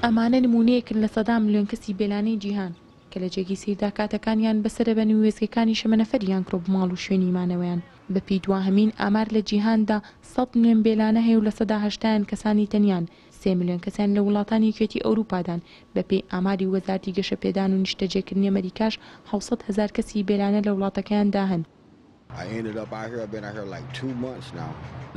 ئەمانە نموونەیەکن لە سەدان ملیۆن کەسی بێلانەی جیهان، کە لە جێگەی سەیردا کاتەکانیان بەسەرەبەن و وێستگەکانی شەمەنەفەریان کردوە بۆ ماڵ و شوێنی مانەوەیان. بەپێی دواهەمین ئامار لە جیهاندا 100 ملیۆن بێلانە هەیە و 80%یان کەسانی تەنیان، 3 ملیۆن کەسیان لە وڵاتانی یەکێتی ئەوروپادان، بەپێی ئاماری وەزارەتی گەشەپێدان و نیشتەجێکردنی ئەمەریکاش 700 هەزار کەسی بێلانە لە وڵاتەکەیاندا هەن.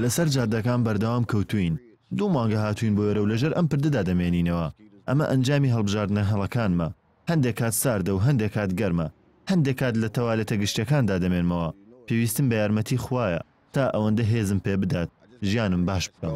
لەسەر جادەکان بەردەوام کەوتووین. 2 مانگە هاتووین بۆ ئێرە و لەژێر ئەم پردەدا دەمێنینەوە. ئەمە ئەنجامی هەڵبژاردنە هەڵەکانمە. هەندێک کات ساردە و هەندێک کات گەرمە. هەندێک کات لە تەوالێتە گشتیەکاندا دەمێنمەوە. پێویستم بە یارمەتی خوایە تا ئەوەندە هێزم پێ بدات ژیانم باش بکەم.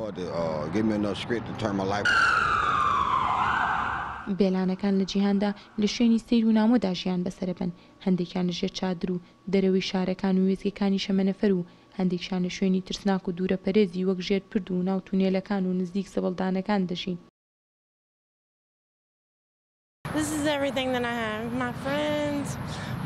بێلانەکان لە جیهاندا لە شوێنی سەیر و نامۆدا ژیان بەسەرەبەن، هەندێکیان لە ژێر چادر و دەرەوەی شارەکان و وێستگەکانی شەمەنەفەر و هەندێکیشیان لە شوێنی ترسناک و دوورەپەرێزی وەک ژێر پرد و ناو تونێلەکان و نزیک زبڵدانەکان دەژین. This is everything that I have. My friends,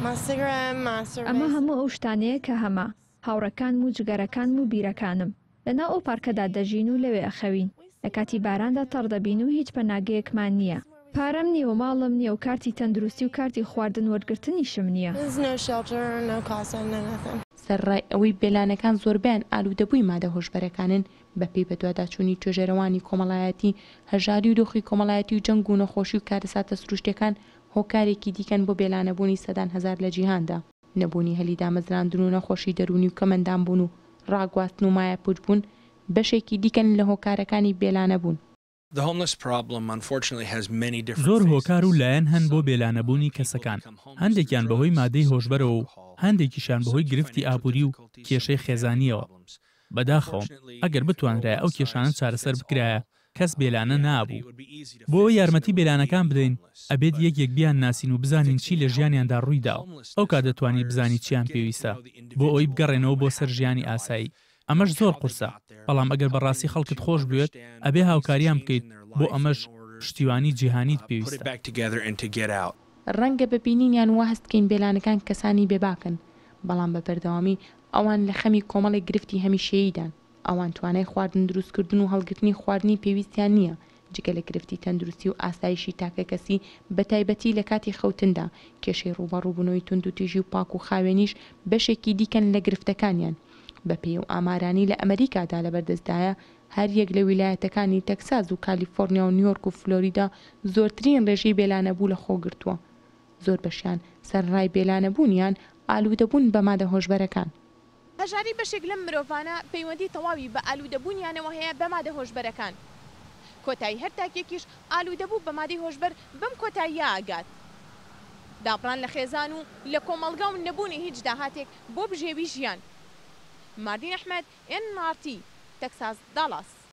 my cigarette, my ئەمە cerveza. هەموو ئەو شتانەیە کە هەمە، هاوڕێکانم و جگەرەکانم و بیرەکانم. لەناو ئەو پارکەدا دەژین و لەوێ ئەخەوین. لە کاتی باراندا تەڕ دەبین و هیچ پەناگەیەکمان نییە. پارەم نییە و ماڵم نییە و کارتی تەندروستی و کارتی خواردن وەرگرتنیشم نییە. There's no shelter, no casa, no nothing. سەرەڕای ئەوەی بێلانەکان زۆربەیان ئالوودەبووی مادە هۆشبەرەکانن، بەپێی بەدواداچوونی توێژەرەوانی کۆمەڵایەتی، هەژاری و دۆخی کۆمەڵایەتی و جەنگ و نەخۆشی و کارەساتە سروشتیەکان هۆکارێکی دیکەن بۆ بێلانەبوونی سەدان هەزار لە جیهاندا. نەبوونی هەلی دامەزراندن و نەخۆشی دەروونی و کەمئەندامبوون و ڕاگواستن و مایەپووچبوون بەشێکی دیکەن لە هۆکارەکانی بێلانەبوون. زۆر هۆکار و لایەن هەن بۆ بێلانەبوونی کەسەکان، هەندێکیان بەهۆی مادەی هۆشبەرەوە و هەندێکیشیان بەهۆی گرفتی ئابووری و کێشەی خێزانییەوە. بەداخەوەم، ئەگەر بتوانرایە ئەو کێشانە چارەسەر بکرایە، کەس بێلانە نابوو. بۆ ئەوەی یارمەتی بێلانەکان بدەین، ئەبێت یەک یەک بیانناسین و بزانین چی لە ژیانیاندا ڕوویداوە. ئەوکات دەتوانی بزانی چیان پێویستە بۆ ئەوەی بگەڕێنەوە بۆ سەر ژیانی ئاسایی. ئەمەش زۆر قورسە، بەڵام ئەگەر بەڕاستی خەڵکت خۆش بوێت، ئەبێ هاوکاریان بکەیت، بۆ ئەمەش پشتیوانی جیهانیت پێویستە. ڕەنگە بە بینینیان وا هەست بکەین بێلانەکان کەسانی بێباکن، بەڵام بە بەردەوامی ئەوان لە خەمی کۆمەڵێک گرفتی هەمیشەییدان. ئەوان توانای خواردن دروستکردن و هەڵگرتنی خواردنی پێویستیان نییە، جگە لە گرفتی تەندروستی و ئاسایشی تاکەکەسی بەتایبەتی لە کاتی خەوتندا، کێشەی ڕووبەڕووبوونەوەی توندوتیژی و پاک و خاوێنیش بەشێکی دیکەن لە گرفتەکانیان. بەپێی ئەو ئامارانەی لە ئەمەریکادا لەبەردەستدایە، هەریەک لە ویلایەتەکانی تەکساس و کالیفۆرنیا و نیۆرک و فلۆریدا زۆرترین ڕێژەی بێلانەبوو لەخۆگرتووە. زۆربەشیان سەرەڕای بێلانەبوونیان، ئالوودەبوون بە مادە هۆشبەرەکان. هەژاری بەشێک لەم مرۆڤانە پەیوەندی تەواوی بە ئالوودەبوونیانەوە هەیە بە مادە هۆشبەرەکان. کۆتایی هەر تاکێکیش ئالوودەبوو بە مادەی هۆشبەر بەم کۆتاییە ئەگات. دابڕان لە خێزان و لە کۆمەڵگا و نەبوونی هیچ داهاتێک بۆ بژێوی ژیان. ماردین ئەحمەد، ئێن ئاڕ تی، تەکساس، داڵاس.